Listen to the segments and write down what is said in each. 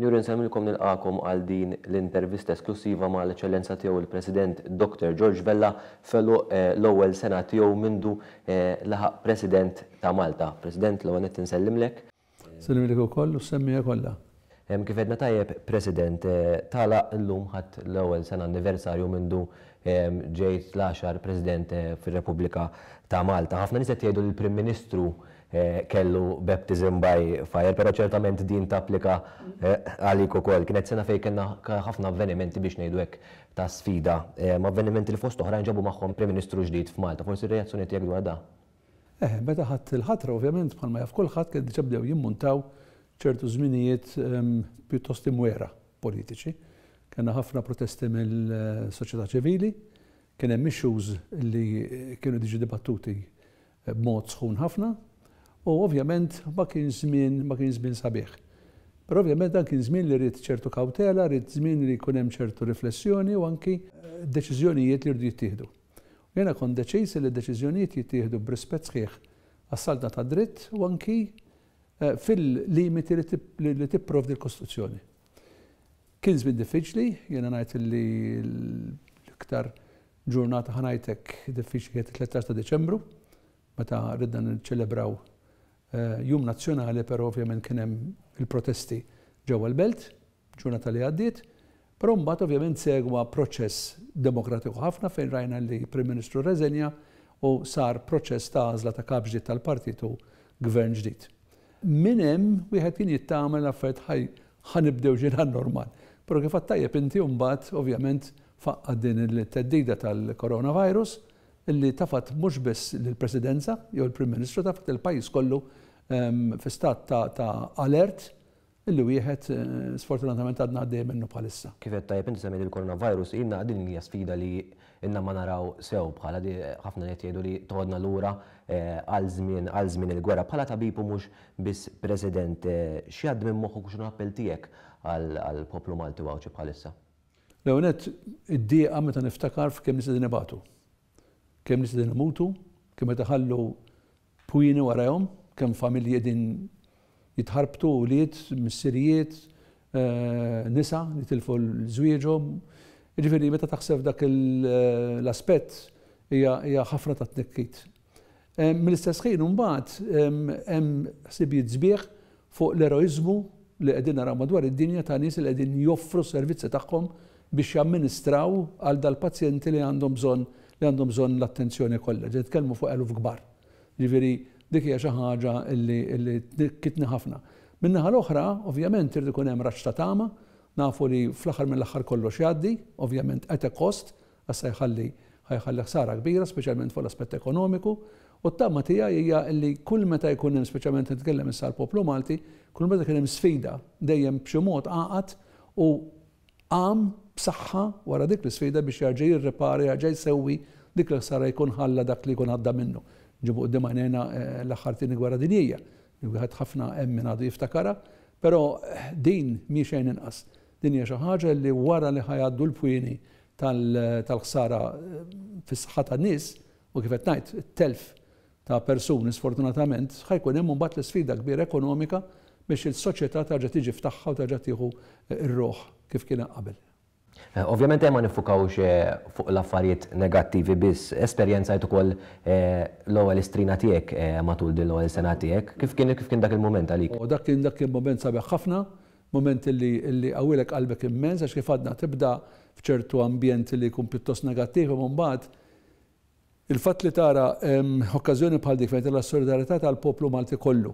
Sinjuri nsellmilkom nilqagħkom għal din l-intervista esklussiva ma' l-Eċċellenza Tiegħu il-President Doctor George Vella f'għeluq l-ewwel sena tiegħu mindu laħaq President ta' Malta. President, l-ewwel nett insellimlek. Nsellimlek ukoll u s-semmiegħa kollha. Kif għedna tajjeb, President, tagħlaq illum ħadt l-ewwel sena anniversarju mindu ġejt l-għaxar President fir-Repubblika ta' Malta. Ħafna nies qed jgħidu li l-Prim Ministru kellu baptism by fire, però ċertament din tapplika għalik ukoll. Kienet sena fejn kellna ħafna avvenimenti biex ngħidu hekk ta' sfida, avvenimenti li fost oħrajn ġabu magħhom Prim Ministru ġdid f'Malta. Forsi r-reazzjoni tiegħek dwar dan? Eħe, meta ħadt il-ħatra ovvjament bħalma jaf kulħadd kien diġà bdew jimmuntaw ċertu żminijiet pjuttost imwiegħra politiċi. Kellna ħafna protesti mill-soċjetà ċivili, kien hemm issues li kienu diġi dibattuti b'mod sħun ħafna u ovvjament ma kienx żmien ma kienx żmien sabiħ. Però ovvjament dan kien żmien li ried ċertu kawtela, ried żmien li jkun hemm ċertu riflessjoni u anki deċiżjonijiet li rridu jittieħdu. U jiena kont deċiż li d-deċiżjonijiet jittieħdu b'rispett sħiħ għas-saltna tad-dritt u anki fil-limiti li tipprovdi l-Kostituzzjoni. Kien żmien diffiċli, jiena ngħid li l-iktar ġurnata ħa ngħid hekk diffiċli kienet it-13 ta' Diċembru, meta ridna niċċelebraw jum nazzjonali però ovvjament kien hemm il-protesti ġewwa l-Belt, ġurnata li għaddiet. Però mbagħad ovvjament segwa proċess demokratiku ħafna fejn rajna li Prim Ministru rreżenja u sar proċess ta' għażla ta' kap ġdid tal-partit u gvern ġdid. Minn hemm wieħed kien jittama li l-affarijiet ħa ħa nibdew xi normal. Però kif għedt tajjeb inti mbagħad ovvjament faqqgħet din il-theddida tal-coronavirus illi tafat mhux biss lill-Presidenza jew il-Prim Ministru tafat il-pajjiż kollu fi stat ta' ta' alert illi wieħed sfortunatament għadna għaddejja minnu bħalissa. Kif għedt tajjeb inti semmejt il-coronavirus, ilna din hija sfida li ilna ma naraw sew bħala di ħafna qed jgħidu li toħodna lura għal żmien għal żmien il-gwerra. Bħala tabib u mhux biss President, x'jgħaddi minn moħħok u x'inhu l-appell tiegħek għall-poplu Malti u Għawdxi bħalissa? L-ewwel nett id-dieqa meta niftakar f'kemm nies qegħdin ibatu. Kemm nies qegħdin imutu, kemm qed iħallu Pwieni warajhom, kemm familji qegħdin jitħarbtu, ulied, missirijiet, nisa li tilfu l-żwieġhom. Jiġifieri meta taħseb f'dak l-aspett hija ħafna ta' tnikkit. Mill-istess ħin imbagħad hemm ħsibijiet sbieħ fuq l-eroiżmu li qegħdin naraw madwar id-dinja ta' nies li qegħdin joffru s-servizzi tagħhom biex jamministraw għal dal-pazjenti li għandhom bżonn li għandhom bżonn l-attenzjoni kollha. Qed nitkellmu fuq eluf kbar. Jiġifieri dik hija xi ħaġa li li tnikkitni ħafna. Min-naħa l-oħra, ovvjament irid ikun hemm raġġ ta' tama, nafu li fl-aħħar mill-aħħar kollox jgħaddi, ovvjament at a cost, għax se jħalli ħa jħalli ħsara kbira speċjalment fuq l-aspett ekonomiku, u t-tama tiegħi hija li kull meta jkun hemm speċjalment nitkellem issa għall-poplu Malti, kull meta kien hemm sfida dejjem b'xi mod għaqad u qam b'saħħa wara dik l-isfida biex jerġa' jirripara, jerġa' jsewwi dik il-ħsara jkun ħalla dak li jkun għadda minnu. Nġibu quddiem għajnejna l-aħħar Tieni Gwerra Dinjija, li wieħed ħafna hemm min għadu jiftakarha, però din mhi xejn inqas. Din hija xi ħaġa li wara li ħa jgħaddu l-pwieni tal-ħsara fis-saħħa tan-nies, u kif qed ngħid, it-telf ta' persuni sfortunatament, ħa jkun hemm imbagħad l-isfida kbira ekonomika biex il-soċjetà terġa' tiġi f'tagħha u terġa' tieħu r-ruħ kif kienet qabel. Ovvjament ejja ma niffukawx fuq l-affarijiet negattivi biss. Esperjenzajt ukoll l-ewwel istrina tiegħek matul din l-ewwel sena tiegħek. Kif kien kif kien dak il-mument għalik? O dak kien dak kien mument sabiħ ħafna, mument illi illi jqawwilek qalbek immens għax kif għadna tibda f'ċertu ambjent li jkun pjuttost negattiv imma mbagħad il-fatt li tara okkażjoni bħal dik fejn tara s-solidarjetà tal-poplu Malti kollu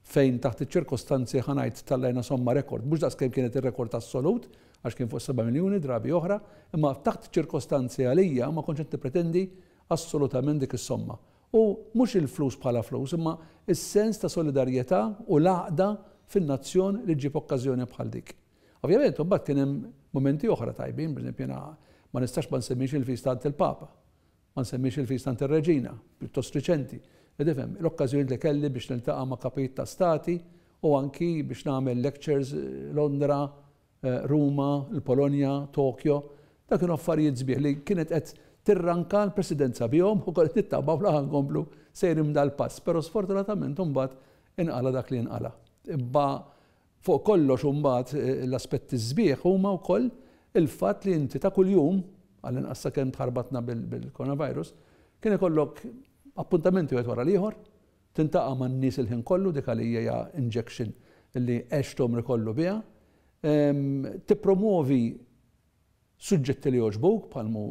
fejn taħt iċ-ċirkostanzi ħa ngħid tallajna somma rekord, mhux daqs kemm kienet ir-rekord assolut, għax kien fuq 7 miljuni drabi oħra, imma taħt iċ-ċirkostanzi għalija ma kontx qed nippretendi assolutament dik is-somma. U mhux il-flus bħala flus, imma s-sens ta' solidarjetà u l-għaqda fin-nazzjon li ġġib okkażjoni bħal dik. Ovvjament, imbagħad kien hemm mumenti oħra tajbin, pereżempju jiena ma nistax ma nsemmix il-feast għand il-Papa. Ma nsemmix il-feast għand ir-Reġina, pjuttost riċenti. Li tifhem, l-okkażjonijiet li kelli biex niltaqa' ma' kapijiet ta' stati u anki biex nagħmel lectures Londra, Ruma, il-Polonja, Tokyo. Dawn kienu affarijiet sbieħ li kienet qed tirranka l-Presidenza bihom u kont qed nittama bla ħa nkomplu sejrin b'dal-pass. Però sfortunatament imbagħad inqala' dak li inqala'. Imma. Fuq kollox imbagħad l-aspetti sbieħ huma wkoll il-fatt li inti ta' kuljum, għall-inqas sakemm tħarbatna bil-coronavirus, kien ikollok appuntamenti wieħed wara l-ieħor, tintaqa' man-nies il-ħin kollu, dik għalija hija injection li għext għomri kollu biha, tippromwovi suġġetti li jogħġbuk bħal mhu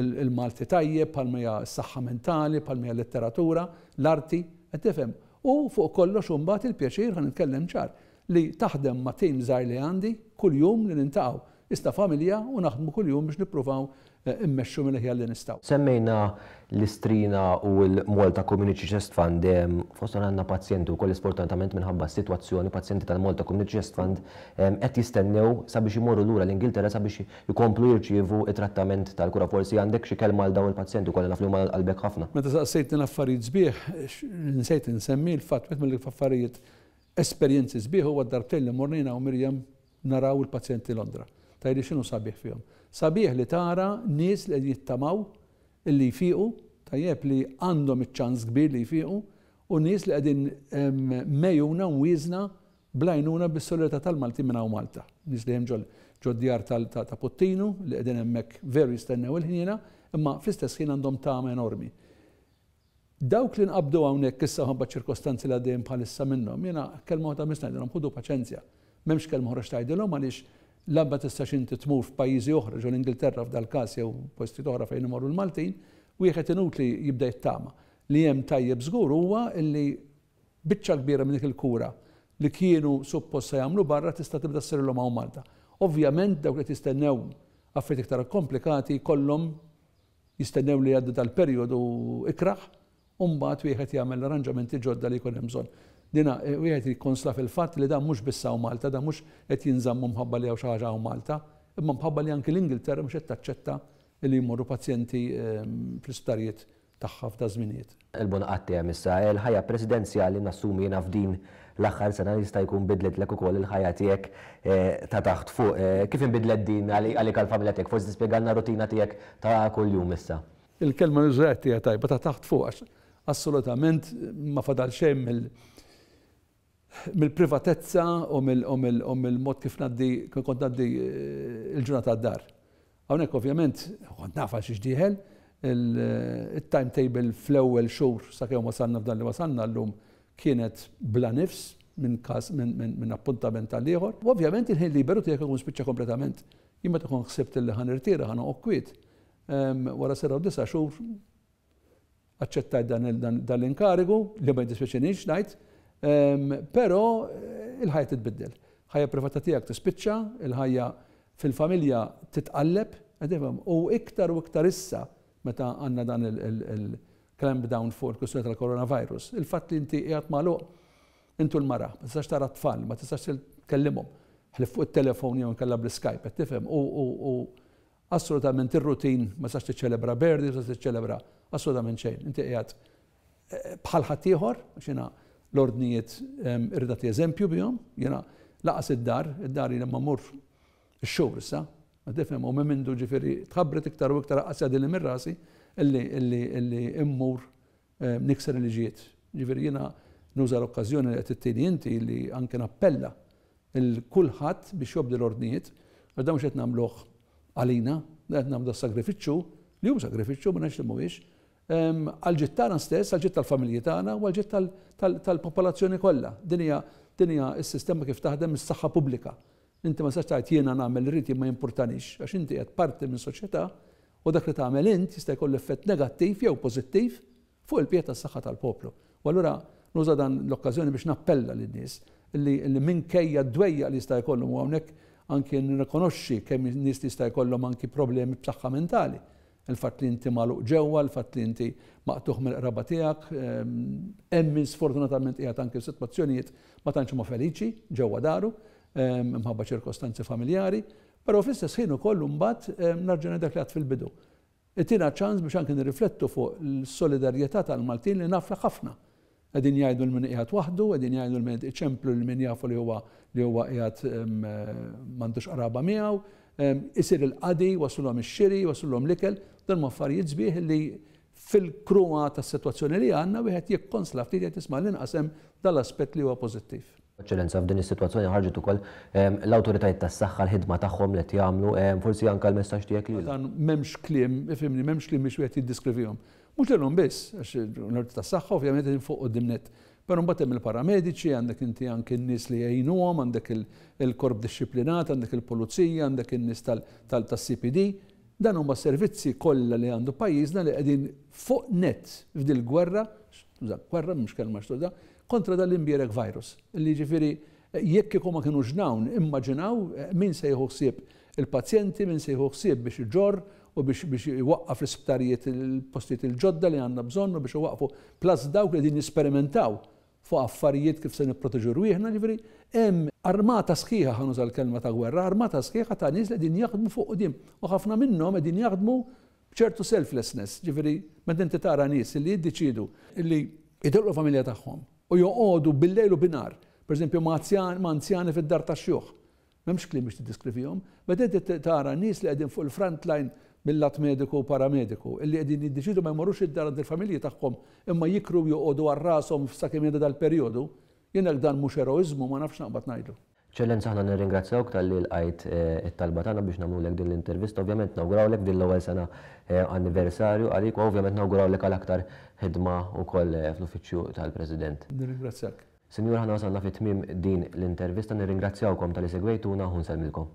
il-Malti tajjeb, bħal hija s-saħħa mentali, bħal hija l-letteratura, l-arti, qed tifhem? U fuq kollox imbagħad il-pjaċir, ħa nitkellem ċar, li taħdem ma' tim żgħir li għandi kuljum li niltaqgħu issa familja u naħdmu kuljum biex nippruvaw immexxu mill-aħjar li nistgħu. Semmejna l-Istrina u l-Malta Community Chest Fund, fosthom għandna pazjenti wkoll sfortunatament minħabba s-sitwazzjoni, pazjenti tal-Malta Community Chest Fund qed jistennew sabiex imorru lura l-Ingilterra sabiex ikomplu jirċievu t-trattament tal-kura. Forsi għandek xi kelma għal dawn il-pazjenti wkoll li naf li huma għal qalbek ħafna. Meta saqsejtni l-affarijiet sbieħ, nsejt insemmi l-fatt wieħed mill-affarijiet esperjenzi sbieħ huwa d-darbtejn li morna jiena u Miriam naraw il-pazjenti Londra. Tgħidli x'inhu sabiħ fihom? Sabiħ li tara nies li qegħdin jittamaw illi jfiqu, tajjeb li għandhom iċ-ċans kbir li jfiqu, u nies li qegħdin megħjuna u mwieżna bl-għajnuna bis-solidarjetà tal-Maltin minn hawn Malta. Nies li hemm ġod-djar ta' Puttinu li qegħdin hemmhekk veru jistennew il-ħniena, imma fl-istess ħin għandhom tama enormi. Dawk li nqabdu hawnhekk issa minħabba ċ-ċirkostanzi li għaddejjin bħalissa minnhom, jiena kelma waħda biss ngħidilhom, ħudu paċenzja. M'hemmx kelma oħra x'tgħidilhom għaliex la ma tistax inti tmur f'pajjiżi oħra, ġo l-Ingilterra f'dal-każ jew postijiet oħra fejn imorru l-Maltin, wieħed inutli jibda jittama. Li hemm tajjeb żgur huwa li biċċa kbira minn dik il-kura li kienu suppost se jagħmlu barra tista' tibda ssirilhom hawn Malta. Ovvjament dawk li qed jistennew affarijiet iktar ikkomplikati jkollhom Jistennew li jgħaddi dal-perjodu ikrah u mbagħad wieħed jagħmel l-arranġamenti ġodda li jkun hemm bżonn. Dina, wieħed jikkonsla fil-fatt li dan mhux biss hawn Malta, dan mhux qed jinżammu mħabba li hawn xi ħaġa hawn Malta, imma mħabba li anki l-Ingilterra mhux qed taċċetta li jmorru pazjenti fl-isptarijiet tagħha f'daż-żminijiet. Il-Bon Qatt issa, il-ħajja presidenzjali nassumi jiena f'din l-aħħar sena jista' jkun bidlitlek ukoll il-ħajja tiegħek ta' taħt fuq. Kif inbidlet din għalik għall-familja tiegħek? Forsi tispjegalna r-rutina tiegħek ta' kuljum issa. Il-kelma li użajt hija tajba, ta' taħt fuq għax assolutament ma fadal xejn mill mill-privatezza u mill-mod kif ngħaddi kif kont ngħaddi l-ġurnata d-dar. Hawnhekk ovvjament kont naf għal xiex dieħel, it-timetable fl-ewwel xhur sakemm wasalna f'dan li wasalna llum kienet bla nifs minn każ minn appuntament għal ieħor. U ovvjament il-ħin liberu tiegħek ikun spiċċa kompletament. Jien meta kont ħsibt li ħa nirtira ħa noqgħod kwiet, wara sena u disa' xhur Aċċettajt dan l-inkarigu, li ma jiddispjaċinix ngħid, però il-ħajja titbiddel. Ħajja privata tiegħek tispiċċa, il-ħajja fil-familja titqalleb, u iktar u iktar issa meta għandna dan il-clamp down fuq il-kwistjoni tal-coronavirus, il-fatt li inti qiegħed magħluq intu l-mara, ma tistax tara t-tfal, ma tistax tkellimhom, ħlief fuq it-telefon jew inkella bl-Skype, qed tifhem, u Assolutament ir-routine, ma tistax tiċċelebra birthday, ma tistax tiċċelebra assolutament xejn. Inti qiegħed bħal ħaddieħor, għax jiena l-ordnijiet irrid nagħti eżempju bihom, jiena laqas id-dar, id-dar jiena ma mmur ix-xhur issa, ma tifhem, u minn mindu ġifieri tħabbret iktar u iktar aqas jgħaddili minn rasi illi illi illi immur nikser il-liġijiet. Ġifieri jiena nuża l-okkażjoni li qed ittini inti li anke nappella lil kulħadd biex jobdi l-ordnijiet, għax dan mhux qed nagħmluh għalina, dan qed nagħmlu das-sagrifiċċju, li hu sagrifiċċju ma ngħidx li mhuwiex, għall-ġid tagħna stess, għall-ġid tal-familji tagħna u għall-ġid tal-popolazzjoni kollha. Din hija din hija s-sistema kif taħdem is-saħħa pubblika. Inti ma tistax tgħid jiena nagħmel li rrid jien ma jimpurtanix, għax inti qed parti minn soċjetà u dak li tagħmel int jista' jkollu effett negattiv jew pożittiv fuq il-bqija tas-saħħa tal-poplu. U allura nuża dan l-okkażjoni biex nappella lin-nies li li minkejja d-dwejjaq li jista' jkollhom u hawnhekk anki nirrikonoxxi kemm nies li jista' jkollhom anki problemi b'saħħa mentali. Il-fatt li inti magħluq ġewwa, il-fatt li inti maqtugħ mill-qraba tiegħek, hemm min sfortunatament qiegħed anki f'sitwazzjonijiet ma tantx huma feliċi ġewwa daru, minħabba ċirkostanzi familjari, però fl-istess ħin ukoll imbagħad nerġa' ngħid dak li għedt fil-bidu. Itina ċans biex anke nirriflettu fuq l-solidarjetà tal-Maltin li naf li ħafna qegħdin jgħidu lil min qiegħed waħdu, qegħdin jgħidu lil min qed iċemplu lil min jafu li huwa li huwa qiegħed m'għandux qraba miegħu, isir il-qadi, jwasslulhom ix-xiri, jwasslulhom l-ikel, dan huma affarijiet sbieħ li fil-kruha tas-sitwazzjoni li għandna wieħed jikkonsla ftit jgħid isma' l-inqas hemm dal-aspett li huwa pożittiv. Eċċellenza, f'din is-sitwazzjoni ħarġet ukoll l-awtoritajiet tas-saħħa l-ħidma tagħhom li qed jagħmlu, forsi anke l-messaġġ tiegħek lilhom. Dan m'hemmx kliem, ifhimni, m'hemmx kliem biex wieħed jiddiskrivihom. Mhux lilhom biss, għax l-awtoritajiet tas-saħħa ovvjament qegħdin fuq quddiem nett. Però mbagħad hemm il-paramediċi, għandek inti anke n-nies li jgħinuhom, għandek il-korp dixxiplinat, għandek il-pulizija, għandek in-nies tas-CPD. Dan huma s-servizzi kollha li għandu pajjiżna li qegħdin fuq nett f'dil-gwerra, tuża gwerra mhux kelma x'tuża, kontra dan l-imbierek virus. Li jiġifieri jekk kieku ma kinux dawn, immaġinaw min se jieħu ħsieb il-pazjenti, min se jieħu ħsieb biex iġorr u biex biex iwaqqaf l-isptarijiet il-postijiet il-ġodda li għandna bżonn u biex iwaqqfu plus dawk li qegħdin jesperimentaw fuq affarijiet kif se nipproteġu rwieħna, jiġifieri hemm armata sħiħa, ħa nuża l-kelma ta' gwerra, armata sħiħa ta' nies li qegħdin jaħdmu fuq quddiem u ħafna minnhom qegħdin jaħdmu b'ċertu selflessness, jiġifieri meta inti tara nies li jiddeċiedu li jitilqu l-familja tagħhom u joqogħdu bil-lejl u binhar, pereżempju ma' anzjani fid-dar tax-xjuħ, M'hemmx kliem biex tiddiskrivihom. Meta inti tara nies li qegħdin fuq il-front line mil-lat mediku u paramediku, illi qegħdin jiddeċiedu ma jmorrux id-dar għand il-familji tagħhom imma jikru u joqogħdu għal rashom sakemm jgħaddi dal-perjodu, jien jekk dan mhux eroiżmu ma nafx x'naqbad ngħidlu. Eċċellenza aħna nirringrazzjawk talli lqajt it-talba tagħna biex nagħmlulek din l-intervista. Ovvjament nawgurawlek din l-ewwel sena anniversarju għalik u ovvjament nawgurawlek għal aktar ħidma wkoll fl-uffiċċju tal-President. Nirringrazzjak. Sinjuri aħna wasalna fi tmiem din l-intervista, nirringrazzjawkom talli segwejtuna u nsellmilkom.